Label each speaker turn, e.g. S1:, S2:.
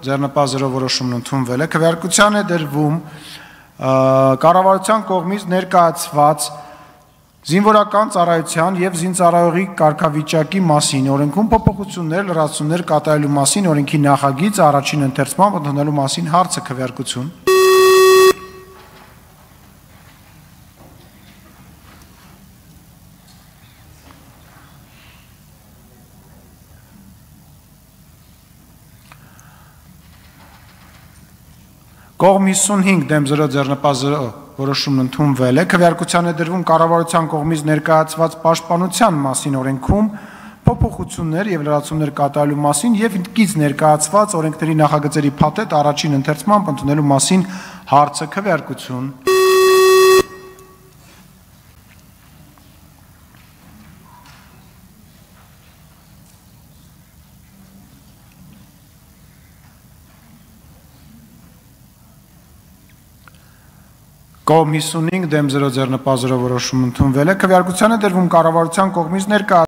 S1: ձեռնպահ որոշումն ընդունվել է, քվեարկության է դրվում կառավարության կողմից ներկայացված զինվորական ծառայության եւ զինծառայողի կարգավիճակի մասին օրենքում փոփոխություններ, լրացումներ կատարելու մասին օրենքի նախագիծը առաջին ընթերցմամբ ընդունելու մասին հարցը քվեարկություն Կողմ 55 դեմ 0 ձեռնպահ 0 որոշումն ընդունվել է քվեարկության է դրվում կառավարության կողմից ներկայացված պաշտպանության մասին օրենքում փոփոխություններ եւ լրացումներ կատարելու մասին եւ ինքից ներկայացված օրենքների նախագծերի փաթեթ առաջին ընթերցմամբ ընդունելու մասին հարցը քվեարկություն Կողմ 55 դեմ 0 ձեռնպահ 0 որոշում ընդունվել է քվեարկության է դրվում կառավարության կողմից ներկայացված